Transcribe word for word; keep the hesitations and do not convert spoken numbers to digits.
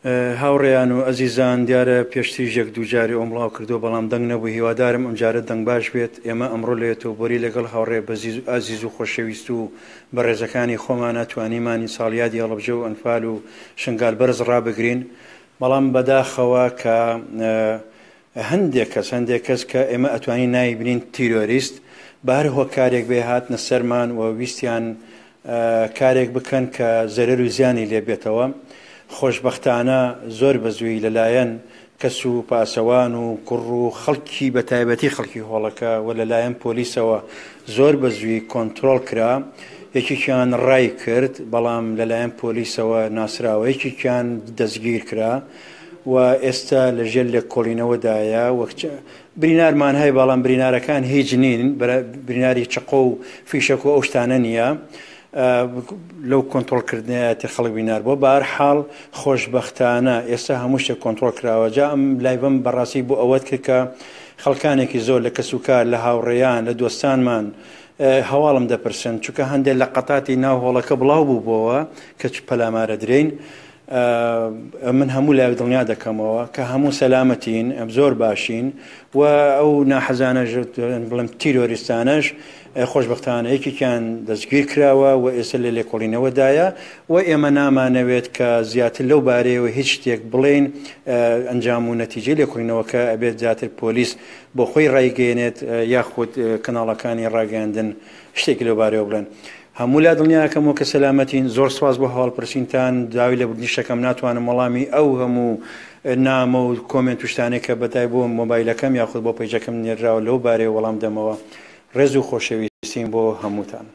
هاوڕێیان و ئەزیزان، دیارە پێشتریش یەک دوو جاری ئەوم بڵاو کردووە، بەڵام دەنگ نەبوو. هیوادارم ئەمجارە دەنگ باش بێت. ئێمە ئەمڕۆ لە یۆتۆبۆری لەگەڵ هاوڕێ ئازیز و خۆشەویست و بەڕێزەکانی خۆمانە توانیمانی ساڵیادی هەڵەبجە و ئەنفال و شنگال بەرز ڕابگرین، بەڵام بەداخەوە کە هەندێک کەس هەندێک کەس کە ئێمە ئەتوانین ناوی بنین تیرۆریست، بە هەر هۆکارێک بێ هاتنە سەرمان و ویستیان کارێک بکەن کە زەرەر و زیانی لێ بێتەوە. خۆشبەختانە زۆر بەزووی لەلایەن کەس و پاسەوان و کوڕ و خەڵکی بە تایبەتی خەڵکی هۆڵەکە و لەلایەن پۆلیسەوە زۆر بەزووی کۆنترۆڵ کرا. یەکێکیان ڕای کرد، بەڵام لەلایەن پۆلیسەوە ناسراوە، یەکێکیان دەستگیر کرا و ئێستا لەژێر لێکۆڵینەوەدایە. وەک برینارمان هەیە، بەڵام برینارەکان هیچ نین، بریناری چەقۆ و فیشەک و ئەو شتانە نییە. لەو کۆنترۆڵکردنەتی خەڵک بینار بۆ. بەهەرحاڵ خۆشبەختانە ئێستا هەموو شتێک کۆنترۆڵ کراوە. جا ئەم live م بەڕاستی بۆ ئەوەت کرد کە خەڵکانێکی زۆر لە کەسوکار، لە هاوڕێیان، لە دۆستانمان هەواڵم دەپرسن، چونکە هەندێک لە قەتاتی ناو هۆڵەکە بڵاو بوو بۆوە کە پەلامارە درێین. من هەموو لای دڵنیا دەکەمەوە کە هەموو سەلامەتین، زۆر باشین و ئەو ناحەزانەش بڵێم تیرۆریستانەش خۆشبەختانە یەکێکیان دەستگیر کراوە و ئێستا لە لێکۆڵینەوەدایە و ئێمە نامانەوێت کە زیاتر لەو بارەیەوە هیچ شتێک بڵێین. ئەنجام و نەتیجەی لێکۆڵینەوەکە ئەبێت زیاتر پۆلیس بۆ خۆی ڕایگەیەنێت یاخود کەناڵەکانی ڕاگەیاندن شتێکی لەو بارەیەوە بڵێن. هەموو لا دڵنیاکەمەوە کە سەلامەتین. زۆر سواز بۆ هەواڵپرسینتان. داوای لێبوردنیشەکەم ناتوانم وەڵامی ئەو هەموو نامە و comment و شتانێک کە بەتای بۆ مۆبایلەکەم یاخود بۆ page ەکەم نێراوە لەو بارەیە وەڵام دەمەوە. ڕێز و خۆشەویستیم بۆ هەمووتان.